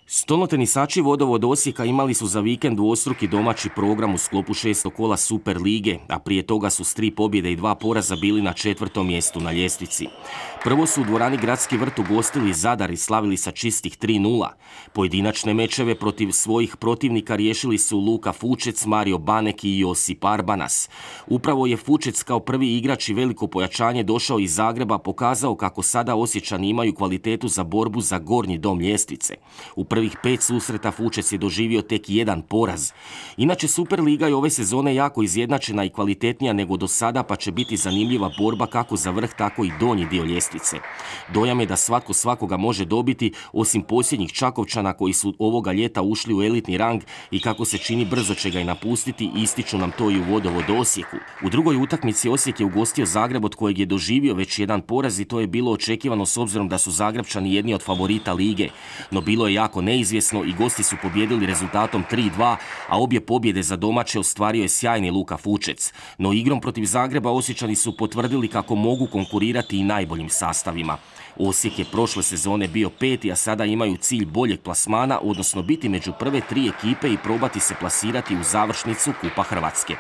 Stolnotenisači Vodovod Osijeka imali su za vikend dvostruki domaći program u sklopu 6. kola Super lige, a prije toga su s 3 pobjede i 2 poraza bili na 4. mjestu na ljestvici. Prvo su u dvorani Gradski vrt ugostili Zadar i slavili sa čistih 3:0. Pojedinačne mečeve protiv svojih protivnika riješili su Luka Fučec, Mario Banek i Josip Arbanas. Upravo je Fučec kao prvi igrač i veliko pojačanje došao iz Zagreba pokazao kako sada Osječani imaju kvalitetu za borbu za gornji dom ljestvice. U prvih 5 susreta Fučec je doživio tek 1 poraz. Inače, Superliga je ove sezone jako izjednačena i kvalitetnija nego do sada, pa će biti zanimljiva borba kako za vrh, tako i donji dio ljestvice. Dojam je da svatko svakoga može dobiti, osim posljednjih Čakovčana koji su ovoga ljeta ušli u elitni rang i kako se čini brzo će ga i napustiti, ističu nam to i u Vodovod Osijeku. U drugoj utakmici Osijek je ugostio Zagreb od kojeg je doživio već 1 poraz i to je bilo očekivano s obzirom da su Zagrebčani jedni od favorita lige. No bilo je jako neizvjesno i gosti su pobijedili rezultatom 3:2, a obje pobjede za domaće ostvario je sjajni Luka Fučec. No igrom protiv Zagreba Osječani su potvrdili kako mogu konkurirati i najboljim sastavima. Osijek je prošle sezone bio 5. a sada imaju cilj boljeg plasmana, odnosno biti među prve 3 ekipe i probati se plasirati u završnicu Kupa Hrvatske.